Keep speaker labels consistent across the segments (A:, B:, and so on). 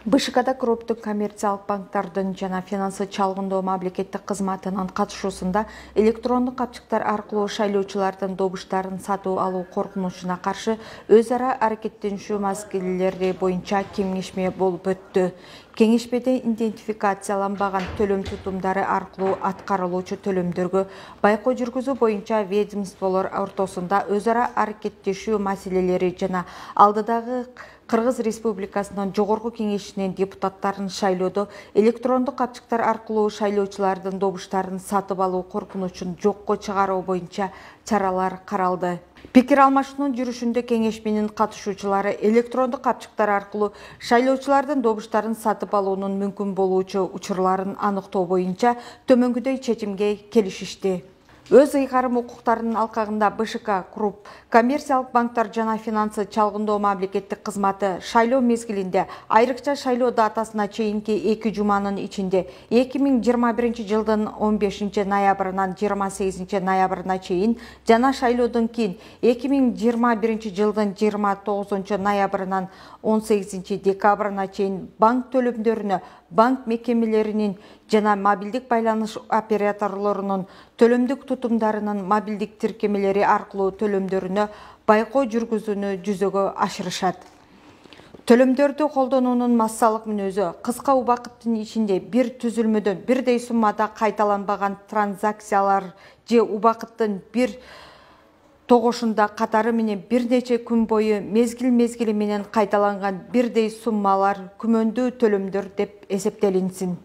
A: БШКда кроптук коммерциялык банктардын жана финансы чалгындоо мамлекеттик кызматынын катышуусунда электрондук капчыктар аркылуу шайлоочулардын добуштарын сатып алуу коркунучуна каршы өз ара аракеттенишүү маселелери боюнча кеңешме болуп өттү. Кеңешмеде идентификацияланбаган төлөм тутумдары аркылуу аткарылуучу төлөмдөргө байкоо жүргүзүү боюнча ведомстволор ортосунда өз ара аракеттешүү маселелери жана алдыдагы Кыргыз Республикасынын Жогорку Кеңешинин депутаттарын шайлоодо электрондук капчыктар аркылуу шайлоочулардын добуштарын сатып алуу коркунучун жокко чыгаруу боюнча чаралар каралды. Пикир алмашуунун жүрүшүндө кеңешменин катышуучулары электрондук капчыктар аркылуу шайлоочулардын добуштарын сатып алуунун мүмкүн болуучу учурларын аныктоо боюнча төмөнгүдөй чечимге келишишти. Өз ыйгарым укуктарынын алкагында БШК, КРУП, коммерциялык банктар жана финансы чалгындоо мамлекеттик кызматы шайлоо мезгилинде айрыкча шайлоо датасына чейинки 2 жуманын ичинде 2021 жылдын 15 ноябрынан 28 ноябрына чейин жана шайлоодон кийин 2021 жылдын 29 ноябрынан 18 декабрына чейин банк төлөмдөрүнө банк мекемелеринин жана мобилдик байланыш операторлорунун төлөмдүк тутумдарынын мобилдик тиркемелери аркылуу төлөмдөрүнө байкоо жүргүзүүнү жүзөгө ашырышат. Төлөмдөрдү колдонуунун массалык мүнөзү кыска убакыттын ичинде бир түзүлмөдөн бирдей суммада кайталанбаган транзакциялар же убакыттын бир тогушунда катары менен бир нече күн бою мезгил менен кайталанган бирдей суммалар күмөндүү төлөмдөр деп эсептелинсин.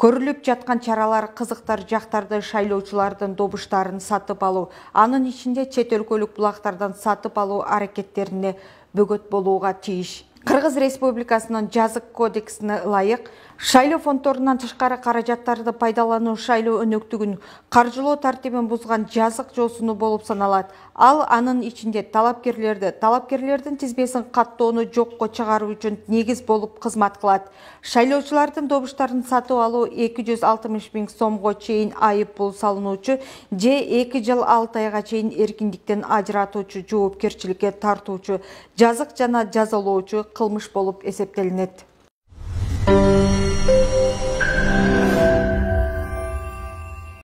A: Көрүлүп жаткан чаралар кызыктар жактарды шайлоочулардын добуштарын сатып алуу, анын ичинде чет өлкөлүк булактардан сатып алуу аракеттерине бөгөт болууга тийиш. Кыргыз Республикасынын жазык кодексине ылайык шайлоо фонддорунан тышкары каражаттарды пайдалануу шайлоо өнөктүгүн каржылоо тартибин бузган жазык жоосуну болуп саналат. Ал анын ичинде талапкерлердин тизмесин каттоону жокко чыгаруу үчүн негиз болуп кызмат кылат. Шайлоочулардын добуштарын сатып алуу 260 000 сомго чейин айып пул салынуучу же 2 жыл 6 айга чейин эркиндиктен ажыратуучу жоопкерчиликке тартуучу жазык жана жазалоочу кылмыш болуп эсептелинет.